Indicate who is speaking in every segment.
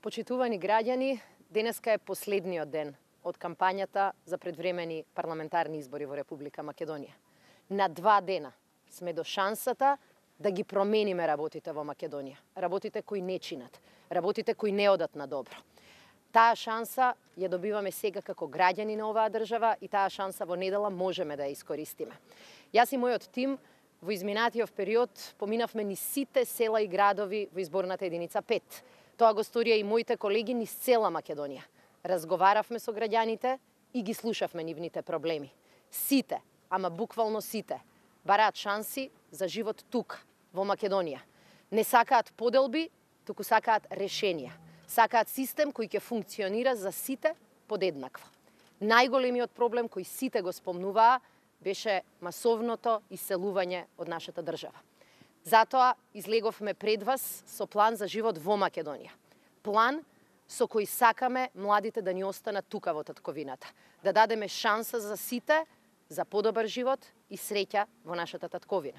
Speaker 1: Почитувани граѓани, денеска е последниот ден од кампањата за предвремени парламентарни избори во Република Македонија. На 2 дена сме до шансата да ги промениме работите во Македонија. Работите кои не чинат, работите кои не одат на добро. Таа шанса ја добиваме сега како граѓани на оваа држава и таа шанса во недела можеме да ја искористиме. Јас и мојот тим во изминатиот период поминавме низ сите села и градови во изборната единица 5. Тоа го сторија и моите колеги низ цела Македонија. Разговаравме со граѓаните и ги слушавме нивните проблеми. Сите, ама буквално сите, бараат шанси за живот тука, во Македонија. Не сакаат поделби, туку сакаат решенија. Сакаат систем кој ќе функционира за сите подеднакво. Најголемиот проблем кој сите го спомнуваа беше масовното иселување од нашата држава. Затоа излеговме пред вас со план за живот во Македонија. План со кој сакаме младите да ни останат тука во татковината, да дадеме шанса за сите за подобар живот и среќа во нашата татковина.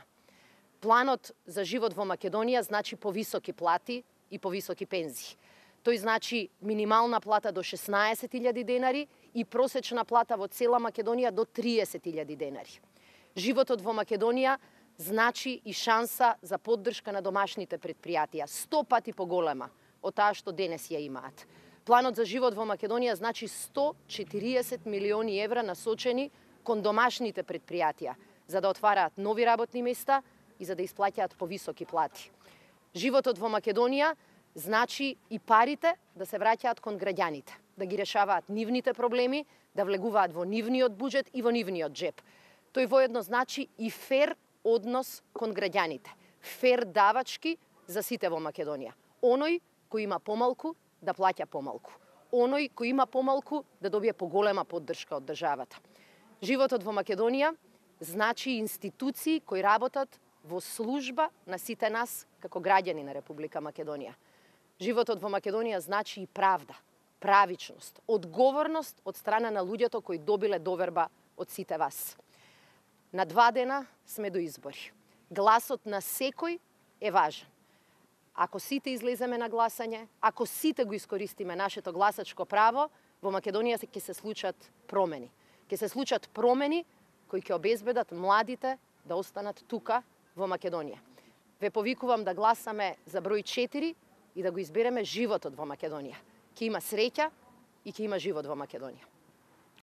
Speaker 1: Планот за живот во Македонија значи повисоки плати и повисоки пензии. Тој значи минимална плата до 16.000 денари и просечна плата во цела Македонија до 30.000 денари. Животот во Македонија значи и шанса за поддршка на домашните предпријатија, 100 пати поголема од таа што денес ја имаат. Планот за живот во Македонија значи 140 милиони евра насочени кон домашните предпријатија, за да отвараат нови работни места и за да исплаќаат повисоки плати. Животот во Македонија значи и парите да се враќаат кон граѓаните, да ги решаваат нивните проблеми, да влегуваат во нивниот буџет и во нивниот джеп. Тој воедно значи и фер однос кон граѓаните, фер давачки за сите во Македонија. Оној кој има помалку да плаќа помалку, оној кој има помалку да добие поголема поддршка од државата. Животот во Македонија значи институции кои работат во служба на сите нас како граѓани на Република Македонија. Животот во Македонија значи и правда, правичност, одговорност од страна на луѓето кои добиле доверба од сите вас. На 2 дена сме до избори. Гласот на секој е важен. Ако сите излеземе на гласање, ако сите го искористиме нашето гласачко право, во Македонија ќе се случат промени. Ќе се случат промени кои ќе обезбедат младите да останат тука во Македонија. Ве повикувам да гласаме за број 4 и да го избереме животот во Македонија. Ќе има среќа и ќе има живот во Македонија.